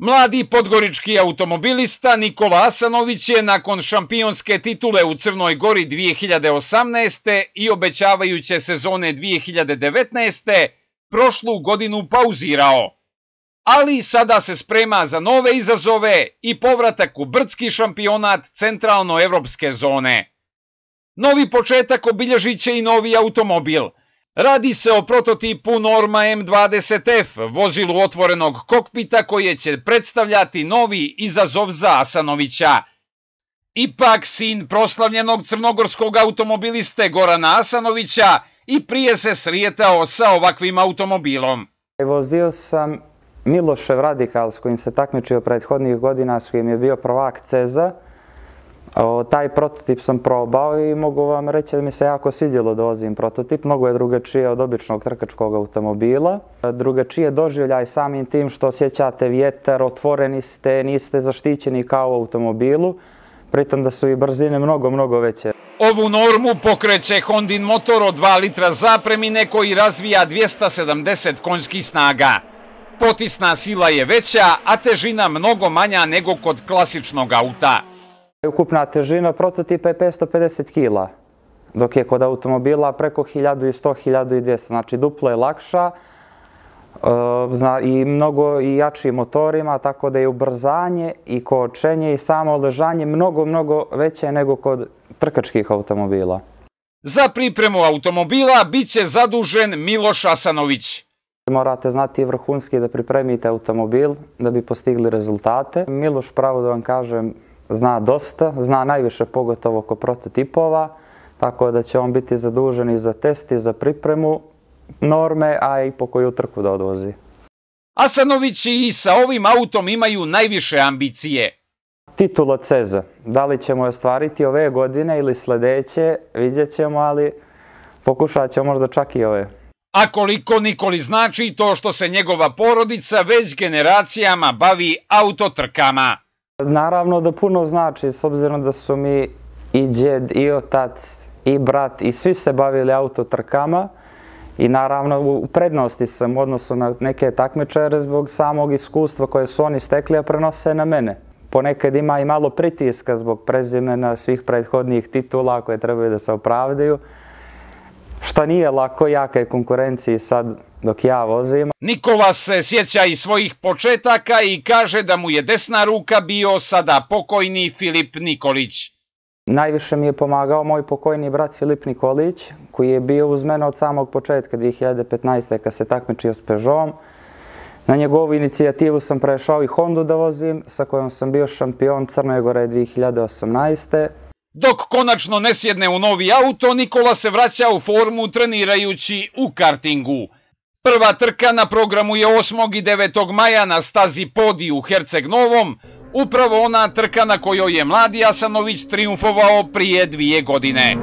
Mladi podgorički automobilista Nikola Asanović je nakon šampionske titule u Crnoj Gori 2018. i obećavajuće sezone 2019. prošlu godinu pauzirao. Ali sada se sprema za nove izazove i povratak u brdski šampionat centralnoevropske zone. Novi početak obilježit će i novi automobil. Radi se o prototipu Norma M20F, vozilu otvorenog kokpita koje će predstavljati novi izazov za Asanovića. Ipak sin proslavljenog crnogorskog automobiliste Gorana Asanovića i prije se srijetao sa ovakvim automobilom. Vozio sam Milošev Radikal s kojim se takmičio prethodnih godina, s kojim je bio prvak CEZ-a. Taj prototip sam probao i mogu vam reći da mi se jako svidjelo da vozim prototip. Mnogo je drugačije od običnog trkačkog automobila. Drugačije doživljaj samim tim što osjećate vjetar, otvoreni ste, niste zaštićeni kao u automobilu, pritom da su i brzine mnogo veće. Ovu normu pokreće Hondin motor od 2 litra zapremine koji razvija 270 konjskih snaga. Potisna sila je veća, a težina mnogo manja nego kod klasičnog auta. Ukupna težina prototipa je 550 kg, dok je kod automobila preko 1100-1200, znači duplo je lakša i mnogo i jačim motorima, tako da je ubrzanje i kočenje i samo ležanje mnogo veće nego kod trkačkih automobila. Za pripremu automobila bit će zadužen Miloš Asanović. Morate znati vrhunski da pripremite automobil da bi postigli rezultate. Miloš, pravo da vam kažem, zna dosta, zna najviše pogotovo kod prototipova, tako da će on biti zadužen i za test i za pripremu norme, a i po koju trku da odvozi. Asanović i sa ovim autom imaju najviše ambicije. Titula CEZ-a. Da li ćemo je ostvariti ove godine ili sljedeće, vidjet ćemo, ali pokušat ćemo možda čak i ove. A koliko Nikoli znači to što se njegova porodica već generacijama bavi autotrkama? Naravno da puno znači, s obzirom da su mi i djed, i otac, i brat, i svi se bavili autotrkama. I naravno u prednosti sam u odnosu na neke takmičare zbog samog iskustva koje su oni stekli, a prenose na mene. Ponekad ima i malo pritiska zbog prezimena svih prethodnih titula koje trebaju da se opravdaju. Šta nije lako, jaka je konkurenciji sad dok ja vozim. Nikola se sjeća i svojih početaka i kaže da mu je desna ruka bio sada pokojni Filip Nikolić. Najviše mi je pomagao moj pokojni brat Filip Nikolić, koji je bio uz mene od samog početka 2015. kad se takmičio s Peugeotom. Na njegovu inicijativu sam prešao i Hondu da vozim, sa kojom sam bio šampion Crne Gore 2018. Dok konačno ne sjedne u novi auto, Nikola se vraća u formu trenirajući u kartingu. Prva trka na programu je 8. i 9. maja na stazi Podi u Herceg Novom, upravo ona trka na kojoj je mladi Asanović triumfovao prije 2 godine.